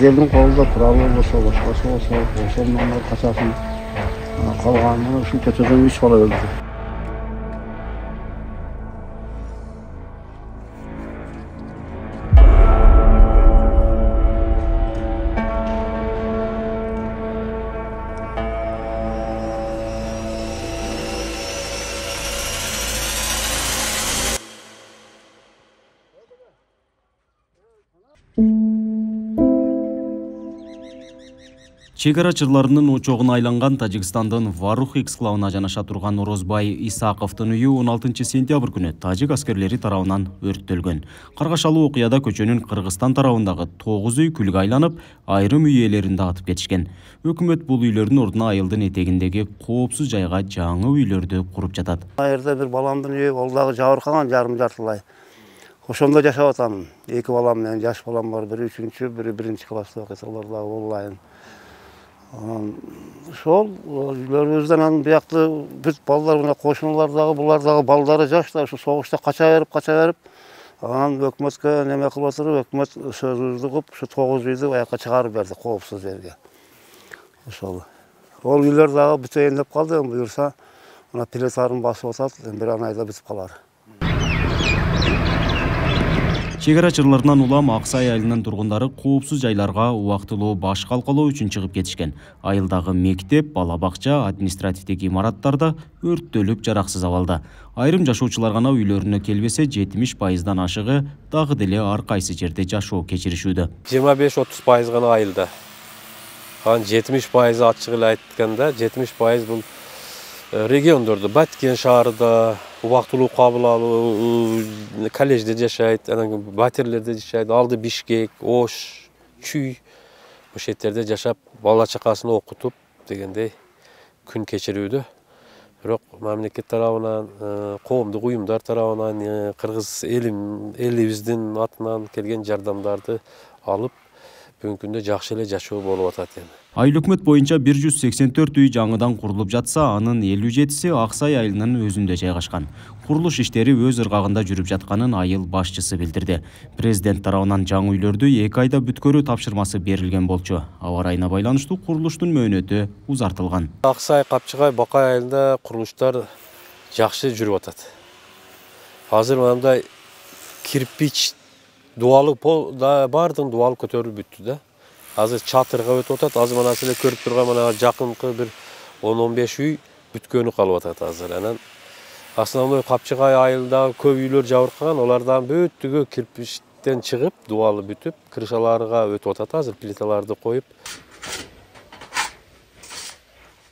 Жердин колунда туралы болсо, башкасы болсо, ошондон качасын. Калганын ушул көчөдөн 3 бала өлдү. Чек арачыларынын очогуна айланган Тажикстандын Варух эксклавына жанаша турган Орозбай Исаковдун үйү 16 сентябрь күнү тажик аскерлери тарабынан өрттөлгөн. Каргашалуу окуяда көчөнүн Кыргызстан тарабындагы 9 үй күлгө айланып, айрым үй ээлерин дагытып кетишкен. Өкмөт бул үйлөрдүн ордуна айылдын этегиндеги коопсуз жайга жаңы үйлөрдү куруп жатат. Айырда бир баламдын үйү, ол дагы жабыркаган жарым-жартылай. Ошондо жашап атам. 2 балам менен, жаш балам бар, бири 3-чү, бири 1-чи класста окуйт, алар дагы онлайн. Ошол үйлөрүбүздөн анан биякты бүт балдар мына кошуналар дагы, булар дагы балдары жаштар, ушу согушта кача берип, анан өкмөткө неме кылып отуруп, өкмөт сөзүбүздү кылып, ушу 9 үйдү аяка чыгарып берди коопсуз жерге. Ошол. Ол үйлөр дагы бүтөйүн деп калды, буюрса, мына плиталарын басып атат, бир айда бүтүп калар. Чек арачыларынан улам Аксай айылынын тургундары коопсуз жайларга убактылуу баш калкалоо үчүн чыгып кетишкен. Айылдагы мектеп, бала бакча, административдик имараттарда өрттөлүп жараксыз абалда. Айрым жашоочулар гана үйлөрүнө келбесе, 70%дан ашыгы дагы деле ар кайсы жерде жашоо кечиришүүдө. 25-30% гана айылда. Анан 70% ачык эле айтканда, 70% бул региондордо, Баткен шаарында убактылуу кабыл алуу, коллежде жашайт, анан батирлерде жашайт, алды Бишкек, Ош, Чүй, ошол жерде жашап, бала чакасын окутуп дегендей күн кечирүүдө. Бирок мамлекет тарабынан, коомдук уюмдар тарабынан, кыргыз элибиздин атынан келген жардамдарды алып, бүгүнкү күндө жакшы эле жашоо болуп атат эми. Айыл өкмөт боюнча 184 үй жаңыдан курулуп жатса, анын 57си Аксай айылынын өзүндө жайгашкан. Курулуш иштери өз ыргагында жүрүп жатканын айыл башчысы билдирди. Президент тарабынан жаңы үйлөрдү 2 айда бүткөрүү тапшырмасы берилген болчу. Аба ырайына байланыштуу курулуштун мөөнөтү узартылган. Аксай, Капчыгай, Бакай айылында курулуштар жакшы жүрүп атат. Азыр мындай кирпич дуалы бардын дуалы көтөрүлүп бүттү да. Азыр чатырга өтүп атат. Азыр мына силер көрүп турган мына жакынкы бир 10-15 үй бүткөнү калып атат азыр. Анан основной Капчыгай айылдагы көп үйлөр жабыркаган, олардан бүттүгү кирпичтен чыгып, дуалы бүтүп, крышаларга өтүп атат. Азыр плиталарды коюп.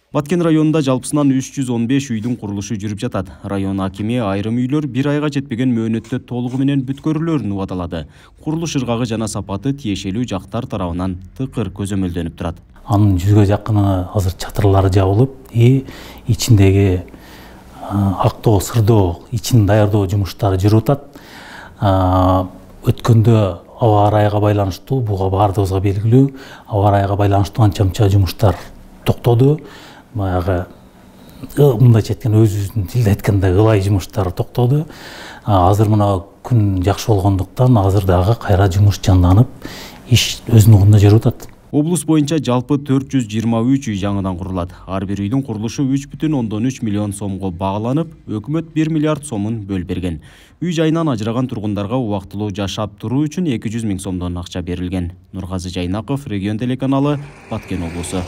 Баткен районунда жалпысынан 315 үйдүн курулушу жүрүп жатат. Район акими айрым үйлөр 1 айга жетпеген мөөнөттө толугу менен бүткөрүлөрүн убадалады. Курулуш ыргагы жана сапаты тиешелүү жактар тарабынан тыкыр көзөмөлдөнүп турат. Анын 100га жакыны азыр чатырлары жабылып, ичиндеги актоо, сырдоо, ичин даярдоо жумуштары жүрүп атат. Өткөндө аба ырайга байланыштуу, буга бардыгыбызга белгилүү, аба ырайга байланыштуу анча-мынча жумуштар токтоду. Баягы мындайча айтканда өзүбүздүн тилде айтканда ылай жумуштар токтоду. Азыр мына күн жакшы болгондуктан азыр дагы кайра жумуш жанданып, иш өз нугунда жүрүп атат. Облус боюнча жалпы 423 үй жаңыдан курулат. Ар бир үйдүн курулушу 3,3 миллион сомго багланып, өкмөт 1 миллиард сомун бөлүп берген. Үй жайынан ажыраган тургундарга убактылуу жашап туруу үчүн 200 миң сомдон акча берилген. Нургазы Жайнаков, Регион телеканалы, Баткен облусу.